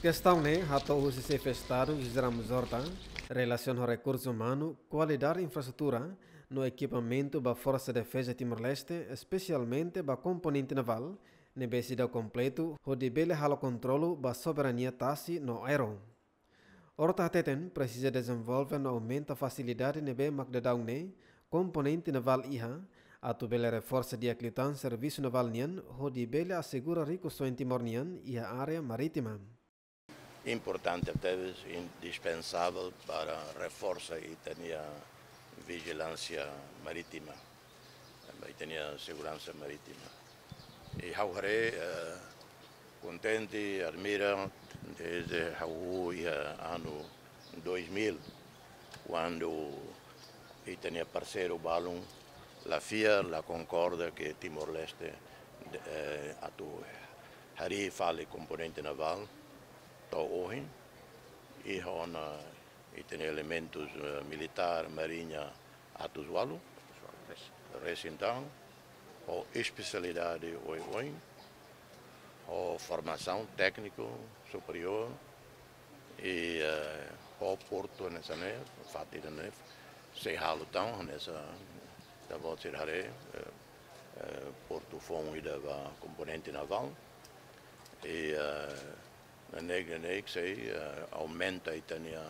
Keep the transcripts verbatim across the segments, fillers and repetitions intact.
Kestaun ne'e hato'o husi Xefe Estadu José Ramos Horta, relasiona ho rekursu umanu, kualidade infraestrutura no ekipamentu ba Forsa Defeza Timor-Leste, espesialmente ba komponente navál, ne'ebé seidauk kompletu hodi bele halo kontrolu ba soberania tasi no aéreu. Horta hateten presiza dezenvolve no aumenta fasilidade ne'ebé mak daudaun ne'e komponente navál iha, atu bele reforsa di'ak liután servisu navál nian hodi bele asegura rikusoin Timor nian iha área marítima. Importante tebes, indispensável para reforsa ita-nia vijilánsia marítima, ita-nia seguransa marítima. I ha'u haree, eh, kontente, admira, dezde ha'u iha anu dois mil, kuandu ita-nia parseiru balun la fiar, la konkorda ke Timor-Leste, eh, atu harii fali komponente navál, to'o ohin, iha ona ita-nia elementus, eh, militár, mariña, atus ualu, resin-tanu, ho espesialidade oioin, ho formasaun tékniku superiór, i, eh, ho portu hanesan ne'e, fatin ne'e, sei halo tan, hanesan ita-boot sira haree, eh, eh, portu foun ida ba komponente navál, i, eh, neineik, neineik sei, eh, aumenta ita-nia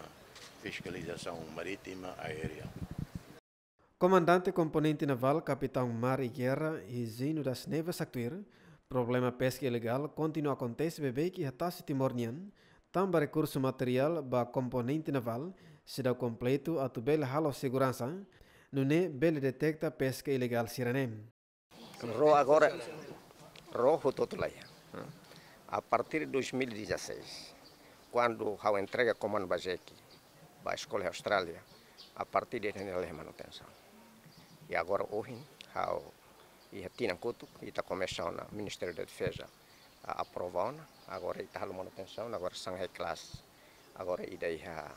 fiskalizasaun marítima aérea. Komandante Komponente Navál, Kapitaun Mar e Guerra Higino das Neves haktuir, problema peska ilegál kontinua akontese beibeik iha tasi Timor nian, tanba rekursu materiál ba komponente navál seidauk kompletu atu bele halo seguransa, nune'e bele deteta peska ilegál sira-ne'e. Ró agora, ró hotu-hotu laiha. A partir de dois mil e dezasseis, kuandu ha'u entrega komandu ba Jeki, ba eskola Austrália, a partir de ne'e laiha manutensaun. I agora ohin, ha'u iha tinan kotuk, ita komesa ona Ministériu da Defeza, a, aprova ona, agora ita halo manutensaun, agora sangai kelas, agora ida iha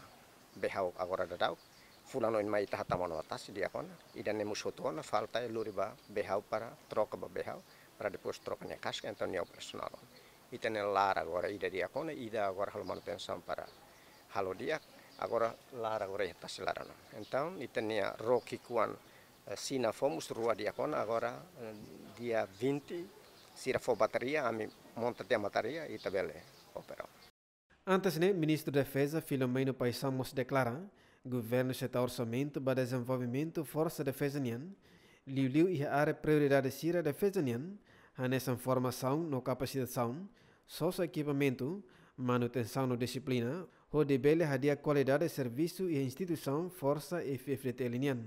Behau agora daudaun, fulan oin mai ita hatama ona ba tasi di'ak ona, ida ne'e mós hotu ona, falta lori ba Behau para troka ba Behau, para depois troka nia kaska, entaun nia operasionál ona. Ita-nia laran agora ida di'ak ona, ida agora halo manutensaun para halo di'ak, agora laran agora iha tasi laran ona. Entaun, ita-nia ró ki'ikoan, eh, sina fó mós rua di'ak ona, agora, eh, dia vinte, sira fó bateria, ami monta tiha bateria, ita bele opera. Antes ne'e, Ministru Defeza Filomeno Paixão mós deklara, governu seta orsamentu ba dezenvolvimentu Forsa Defeza nian, liuliu iha área prioridade sira defeza nian, hanesan formasaun no kapasitasaun, sosa ekipamentu, manutensaun no dixiplina, hodi bele hadi'a kualidade servisu iha instituisaun Forsa F-FDTL nian.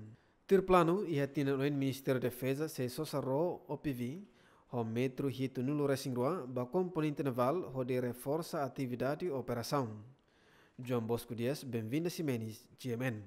Tuir planu, iha tinan oin Ministériu Defeza sei sosa ró O P V ho metru hitunulu resin rua ba komponente navál hodi reforsa atividade operasaun. João Bosco Dias, Benvinda Ximenes, G M N.